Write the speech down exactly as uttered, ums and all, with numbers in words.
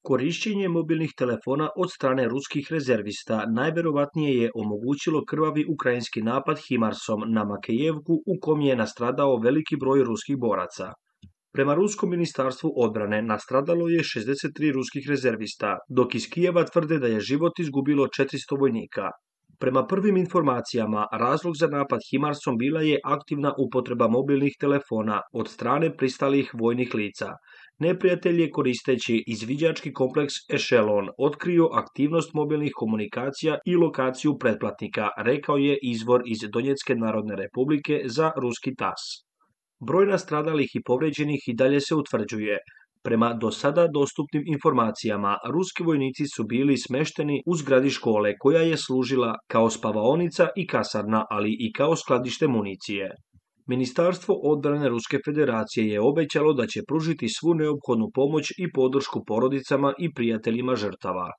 Korišćenje mobilnih telefona od strane ruskih rezervista najverovatnije je omogućilo krvavi ukrajinski napad Himarsom na Makejevku u kom je nastradao veliki broj ruskih boraca. Prema Ruskom ministarstvu odbrane nastradalo je šezdeset tri ruskih rezervista, dok iz Kijeva tvrde da je život izgubilo četiristo vojnika. Prema prvim informacijama, razlog za napad Himarsom bila je aktivna upotreba mobilnih telefona od strane pristalih vojnih lica. Neprijatelj je koristeći izviđački kompleks Ešelon otkrio aktivnost mobilnih komunikacija i lokaciju pretplatnika, rekao je izvor iz Donjecke narodne republike za ruski tas. Broj nastradalih i povređenih i dalje se utvrđuje. Prema do sada dostupnim informacijama, ruski vojnici su bili smešteni u zgradi škole koja je služila kao spavaonica i kasarna, ali i kao skladište municije. Ministarstvo odbrane Ruske federacije je obećalo da će pružiti svu neophodnu pomoć i podršku porodicama i prijateljima žrtava.